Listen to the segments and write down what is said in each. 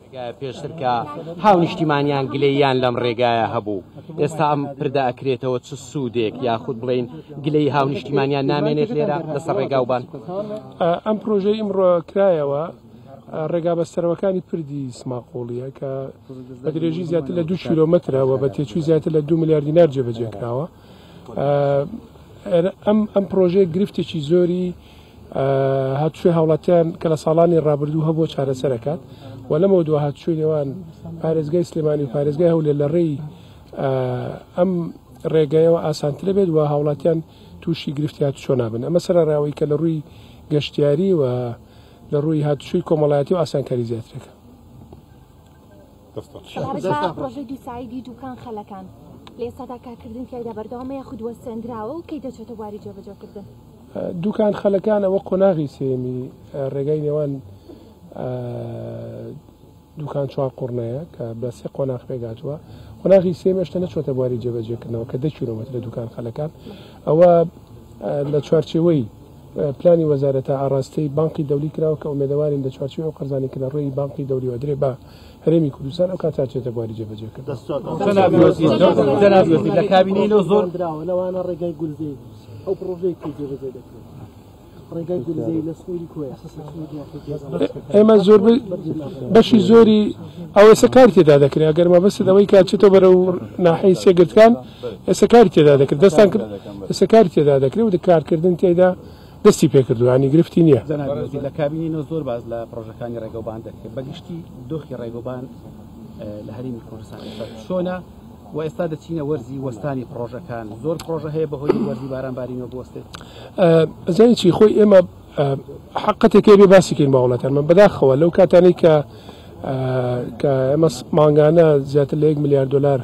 ڕێگایە پێشتر کە هاونیشتیمانیان گلەییان لەم ڕێگایە هەبوو، ئێستا ئەم پردە ئەکرێتەوە چ سوودێک یاخود بڵێین گلەیی هاونیشتیمانیان نامێنێت لێرە لەسەر ڕێگاوبان؟ ئەم پرۆژەی ئیمڕۆ کرایەوە ڕێگا بەستەرەوەکانی پردی سماقوڵیە کە بە درێژی زیاتر لە 2 کیلۆمەترە و بە تێچووی زیاتر لە 2 ملیار دینار جێبەجێ کراوە. ئەم ئەم پرۆژەیە گرفتێکی زۆری هاتوچۆی هاوڵاتیان کە لە ساڵانی ڕابردوو هەبووە چارەسەر ئەکات و لەمەوە دوا هاتوچۆی نێوان پارێزگای سلێمانی و پارێزگای هەولێر لە ڕێی ئەم ڕێگایەوە ئاسانترە بێت و هاوڵاتیان تووشی گرفتی هاتوچۆ نابن. ئەمە سەرەڕای کە لە ڕووی گەشتیاری و لە ڕووی هاتوچۆی کۆمەڵایەتی و ئاسانکاری زیاترەکە. سەبارەت بە پڕۆژەی دووسایدی دووکان خەلەکان، لە ئێستادا کارکردن تیایدا بەردەوامە یاخود وەستێندراوە و کەی دەچێتە بواری جێبەجێکردن؟ دووکان خەلەکان ئەوە قۆناغی سێیەمی ڕێگای نێوان دووکان چوارقوڕنەیە کە بە سێ قۆناغ پێکهاتووە، قۆناغی سێیەم هێشتا نەچووەتە بواری جێبەجێکردنەوە کە 10 کیلۆمەترە دووکان خەلەکان، ئەوە لە چوارچێوەی پلانی وەزارەتە ئاڕاستەی بانقی دەولی کراوە کە ئومێدەوارین لە چوارچێوەی ئەو قەرزانەی کە لە ڕێی بانقی دەولیەوە ئەدرێ بە هەرێمی کوردستان ئەو کاتە ئەچێتە بواری جێبەجێکردن. جەنابی وەزیر، جەنابی وەزیر لە کابینەی لۆ زۆر دراوە لەوانە ڕێگای گولزەی ئەو پڕۆژەیە کەی جێبەجێ دەکرێت؟ ڕێگای گولزەی لە سنووری کۆیە ئێمە زۆر بەشی زۆری ئەو ئێستا کاری تێدا دەکرێت ئەگەر مەبەستت ئەوەی کە چێتەوە بەرەو ناحیەی سێگردکان ئێستا کاری تێدا دەکرێت دەستان کرد ئێستا کاری تێدا دەکرێت و کارکردن تێدا دەستی پێکردووە ینی گرفتی نییە. جەنابی وەزیر لە کابینەی نۆ زۆر باس لە پڕۆژەکانی ڕێگەوبان دەکرێت بەگشتی دۆخی ڕێگەوبان لە هەرێمی کوردستان ئێستا چۆنە و ئێستا دەچینە وەرزی وەستانی پڕۆژەکان زۆر پڕۆژە هەیە بەهۆی وەرزی باران بارینەوە بوەستێت؟ ئەزانی چی خۆی ئێمە حقەتێک بێ باسی کەین بە وڵاتانمان بەداخەوە لەو کاتانەی کە کە ئێمە مانگانە زیاتر لە 1 ملیار دلار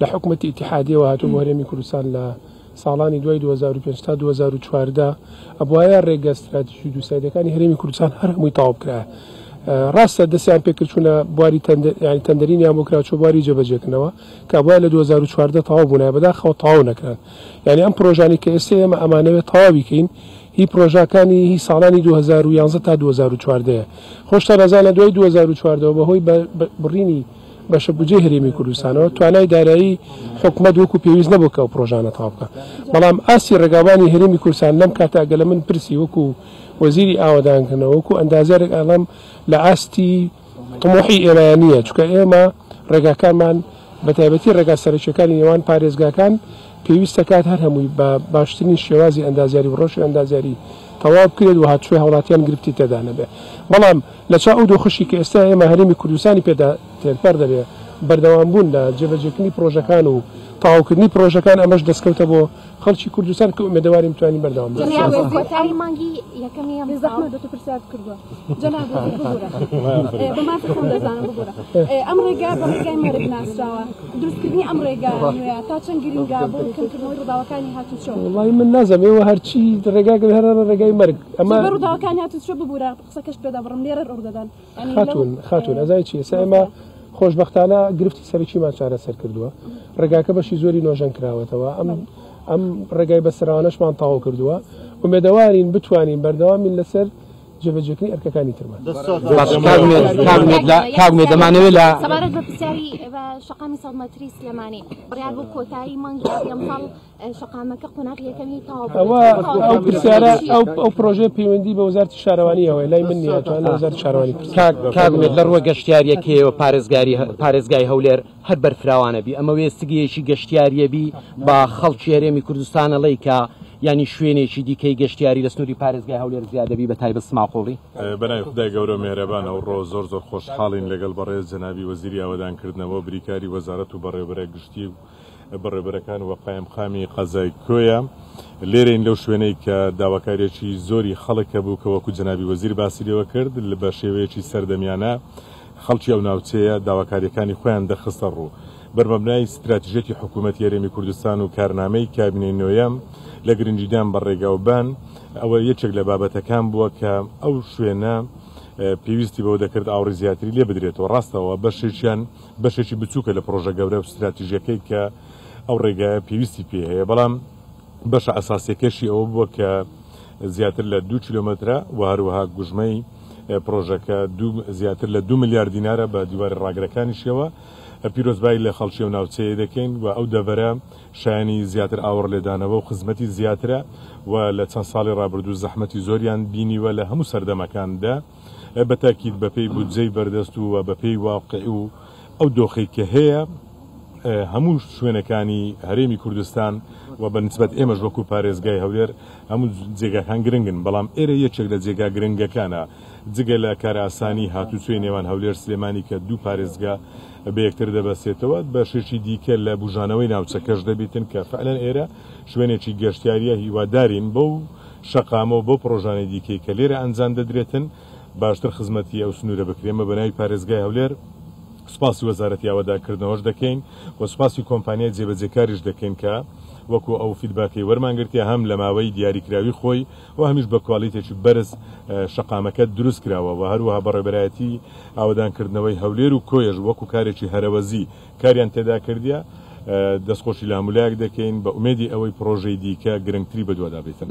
لە حکوومەتی ئیتیحادیەوە هاتوو بۆ هەرێمی کوردستان لە ساڵانی دوای 2005 تا 2014 ئەبواە ڕێگە ستراتیژی دووسایدەکانی هەرێمی کوردستان هەر هەمووی تەواو بکرایە. ڕاستە دەستیان پێکرد چوونە بواری ینی تەندەرینیان بۆ کرا چۆ بواری جێبەجێکردنەوە کە ئەبوایە لە 2014 تەواو بوونایە بەداخەوە تەواو نەکران یعنی ئەم پرۆژانی کە ئێستا ئێمە ئەمانەوێت تەواوی کەین هی پرۆژاکانی هی ساڵانی 2011 تا 2014 خۆشتان ئەزانە دوای 2014 بەهۆی بڕینی بەشە بودجەی هەرێمی کوردستانەوە توانای دارایی حکومەت وەکو پێویست نەبوو کە ئەو پرۆژانە تەواو بکات بەڵام ئاستی ڕێگاوبانی هەرێمی کوردستان لەم کاتە ئەگەر لە من پرسی وەکو وەزیری ئاوەدانکردنەوە وەکو ئەندازیارێک ئەڵێم لە ئاستی طموحی ئێمەیان نییە چونکە ئێمە ڕێگاکانمان بە تایبەتی ڕێگا سەرەکیەکانی نێوان پارێزگاکان پێویستە کات هەر هەمووی بە باشترین شێوازی ئەندازیاری و ڕەوشی ئەندازیاری تەواو بکرێت و هاتوچۆی هاوڵاتیان گرفتی تێدا نەبێت بەڵام لە چاو ئەو دۆخەشی کە ئێستا ئێمە هەرێمی کوردستانی پێدا تێپەڕ دەبێت بەردەوامبوون لە جێبەجێکردنی پرۆژەکان و تەواوکردنی پرۆژەکان ئەمەش دەستکەوتە بۆ خەڵکی کوردستان کە ئومێدەوارین بتوانین بەردەوام بین. کۆتایی مانگی یەکەمی ئەم ساڵ. زەحمەت بێت و پرسیارت کردووە جەناب وەزیر ببورە بە مافی خۆم دەزانم ببورە ئەم ڕێگا بە ڕێگای مەرگ ناسراوە دروستکردنی ئەم ڕێگا نوێیە تا چەند گرنگە بۆ کەمکردنەوەی ڕووداوەکانی هاتوچۆ؟ وەڵی من نازانم ئێوە هەرچی ڕێگا گرن هەر ڕێگای مەرگ ئەمە زۆربەی ڕووداوەکانی هاتوچۆ ببورە قسەکەشت پێ دەبڕم لێرە ڕوودەدەن خاتوون خاتوون ئەزای چی ئێستا ئێمە خۆشبەختانە گرفتی سەرەکیمان چارەسەر کردووە ڕێگاکە بەشی زۆری نۆژەن کراوەتەوە ئەم ئەم ڕێگای بەسراوانەشمان تەواو کردووە ئومێدەوارین بتوانین بەردەوامین لەسەر جێبەجێکردنی ئەرکەکانی ترمان. کاک ئومێد دەمانەوێت لە سەبارەت بە پرسیاری بە شەقامی 100 مەتری سلێمانی بڕیار بوو کۆتایی مانگی ئابی ئەمساڵ شەقامەکە قۆناغی یەکەمی تەواو بکرێت. ئەوە ئەو پرسیارە ئەو ئەو پرۆژەیە پەیوەندی بە وەزارەتی شارەوانیەوە لای من نییە توان لە وەزارەتی شارەوانی پرسیار. کاک کاک ئومێد لە ڕووە گەشتیارییەکەیەوە پارێزگاری پارێزگای هەولێر هەر بەرفراوانە بی ئەمە وێستگەیەکی گەشتیاریە بی بە خەڵکی هەرێمی کوردستان ئەڵێی کە یانی شوێنێکی دیکەی گەشتیاری لە سنووری پارێزگای هەولێر زیادە بی بە تایبەت سماقوڵی؟ بەناوی خودای گەورەو میهرەبان ئەوڕۆ زۆر زۆر خۆشحاڵین لەگەڵ بەڕێز جەنابی وەزیری ئاوەدانکردنەوە بریکاری وەزارەت و بەڕێوبەرە گشتی و بەڕێوبەرەکان و قایمقامی قەزای کۆیە لێرەین لەو شوێنەی کە داواکاریەکی زۆری خەڵک هەبوو کە وەکو جەنابی وەزیر باسی لێوە کرد بە شێوەیەکی سەردەمیانە خەڵکی ئەو ناوچەیە داواکاریەکانی خۆیان دەخستە ڕوو. بەرمەبنای ستراتیژیەتی حکوومەتی هەرێمی کوردستان و کارنامەی کابینەی نۆیەم لە گرنگیدان بە ڕێگاوبان ئەوە یەکێک لە بابەتەکان بووە کە ئەو شوێنە پێویستی بەوە دەکرد ئاوڕی زیاتری لێ بدرێتەوە ڕاستەوە بەشێکیان بەشێکی بچووکە لە پڕۆژە گەورە و ستراتیژیەکەی کە ئەو ڕێگایە پێویستی پێ هەیە بەڵام بەشە ئەساسیەکەشی ئەوە بووە کە زیاتر لە دوو کیلۆمەترە و هەروەها گوژمەی پرۆژەکە زیاتر لە 2 ملیار دینارە بە دیواری ڕاگرەکانیشیەوە. پیرۆزبایی لە خەڵکی ئەو ناوچەیە دەکەین و ئەو دەڤەرە شایانی زیاتر ئاوڕ لێدانەوە و خزمەتی زیاترە و لە چەند ساڵی ڕابردوو زەحمەتی زۆریان بینیوە لە هەموو سەردەمەکاندا، بە تاکید بەپێی بودجەی بەردەست و بەپێی واقع و ئەو دۆخەی کە هەیە هەموو شوێنەکانی هەرێمی کوردستان و بە نسبەت ئێمەش وەکو پارێزگای هەولێر هەموو جێگاکان گرنگن، بەڵام ئێرە یەکێک لە جێگا گرنگەکانە جگە لە کارئاسانی هاتوچۆی نێوان هەولێر سلێمانی کە دوو پارێزگا بە یەکتر دەبەستێتەوە، بەشێکی دیکە لە بوژانەوەی ناوچەکەش دەبیتن کە فعلەن ئێرە شوێنێکی گەشتیاریە. هیوادارین بەو شەقامە و بەو پڕۆژانەی دیکەی کە لێرە ئەنجام دەدرێتن باشتر خزمەتی ئەو سنوورە بکرێت. ئێمە بە ناوی پارێزگای هەولێر سوپاسی وەزارەتی ئاوەدانکردنەوەش دەکەین و سوپاسی کۆمپانیای جێبەجێکاریش دەکەین کە وەکو ئەو feedback ەی وەرمان گرتیە هەم لە ماوەی دیاریکراوی خۆی و هەمیش بە کوالیتێکی بەرز شەقامەکە دروست کراوە و هەروەها بەڕێوەبەرایەتی ئاوەدانکردنەوەی هەولێر و کۆیەش وەکو کارێکی هەرەوەزی کاریان تێدا کردیە. دەستخۆشی لە هەموو لایەک دەکەین بە ئومێدی ئەوەی پڕۆژەی دیکە گرنگتری بەدوادا بێتن.